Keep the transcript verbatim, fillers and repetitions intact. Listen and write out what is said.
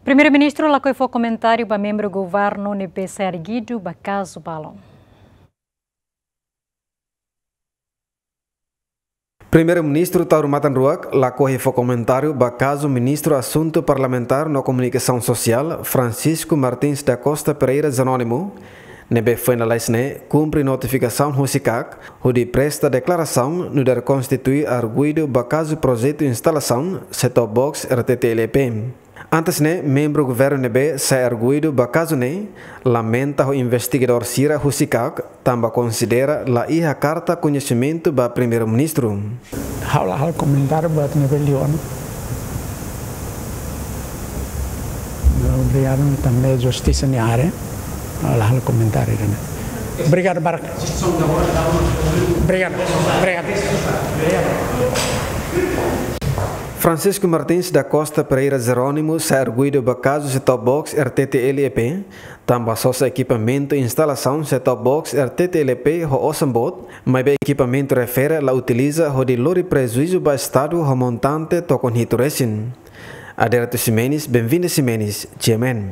Primeiru-Ministru lakohi fó komentáriu ba membru governu ne'ebé sai arguidu ba kazu balun. Primeiru-Ministru Taur Matan Ruak lakohi fó komentáriu ba kazu Ministru Asuntu Parlamentár no Komunikasaun Sosiál, Francisco Martins da Costa Pereira Jerónimo, ne'ebé foin lalais ne'e kumpre notifikasaun husi KAK, hodi presta deklarasaun nu'udar konstitui arguidu ba kazu projetu instalasaun set-top box R T T L E P. Antes ne'e, membru governu ne'ebé sai arguidu ba kazu ne'e lamenta ho investigadór sira husi KAK, tanba konsidera la iha karta koñesimentu ba Primeiru-Ministru. Ha'u la halo komentáriu buat ne'ebé liu ona. Obrigadu, ami tanba justisa nia área. Ha'u la halo komentáriu ida-ne'e. Obrigadu barak. Obrigadu. Obrigadu. Francisco Martins da Costa Pereira Jerónimo sai arguidu ba kazu set-top box R T T L E P, tanba sosa ekipamentu instalasaun set-top box R T T L E P ho osan boot, maibé ekipamentu refere la utiliza hodi lori prejuízu ba Estadu ho montante tokon hitu resin. Aderito Ximenes, Benvinda Ximenes, G M N.